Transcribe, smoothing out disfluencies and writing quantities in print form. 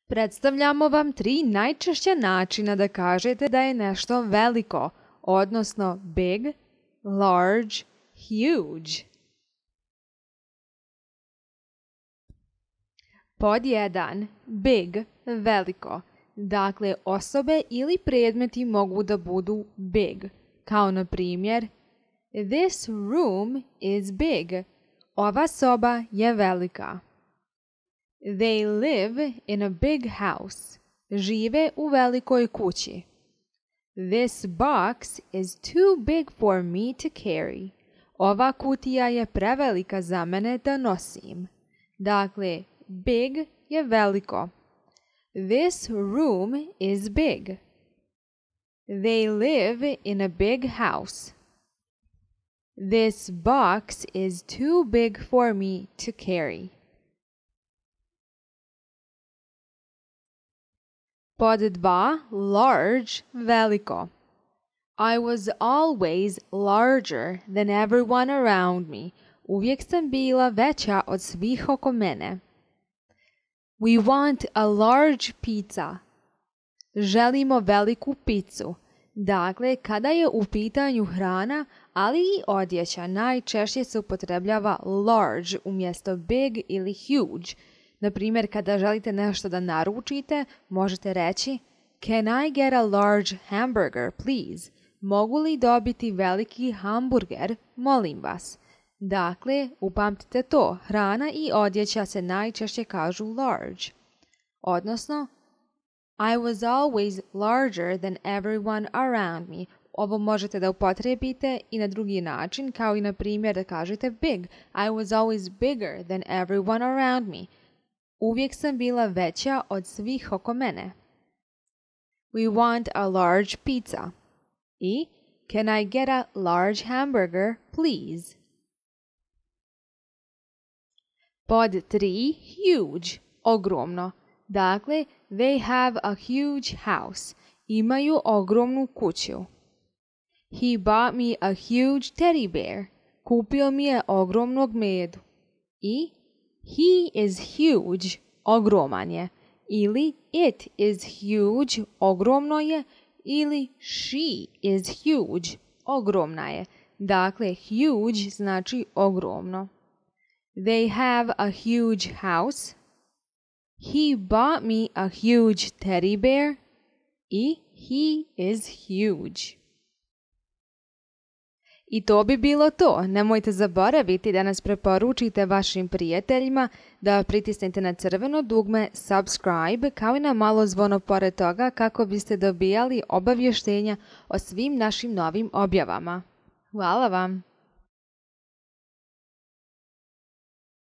Predstavljamo vam 3 najčešća načina da kažete da je nešto veliko, odnosno big, large, huge. Pod 1. Big, veliko. Dakle, osobe ili predmeti mogu da budu big, kao na primjer This room is big. Ova soba je velika. They live in a big house. Žive u velikoj kući. This box is too big for me to carry. Ova kutija je prevelika za mene da nosim. Dakle, big je veliko. This room is big. They live in a big house. This box is too big for me to carry. Pod 2. Large, veliko. I was always larger than everyone around me. Uvijek sam bila veća od svih oko mene. We want a large pizza. Želimo veliku picu. Dakle, kada je u pitanju hrana, ali i odjeća, najčešće se upotrebljava large umjesto big ili huge. Na primjer, kada želite nešto da naručite, možete reći Can I get a large hamburger, please? Mogu li dobiti veliki hamburger? Molim vas. Dakle, upamtite to, hrana i odjeća se najčešće kažu large. Odnosno, I was always larger than everyone around me. Ovo možete da upotrijebite i na drugi način, kao i na primjer da kažete big. I was always bigger than everyone around me. Uvijek sam bila veća od svih oko mene. We want a large pizza. I Can I get a large hamburger, please? Pod 3. Huge, ogromno. Dakle, they have a huge house. Imaju ogromnu kuću. He bought me a huge teddy bear. Kupio mi je ogromnog medu. I He is huge, ogroman je. Ili it is huge, ogromno je. Ili she is huge, ogromna je. Dakle, huge znači ogromno. They have a huge house. He bought me a huge teddy bear. I he is huge. I to bi bilo to. Nemojte zaboraviti da nas preporučite vašim prijateljima, da pritisnete na crveno dugme subscribe kao i na malo zvono pored toga kako biste dobijali obavještenja o svim našim novim objavama. Hvala vam!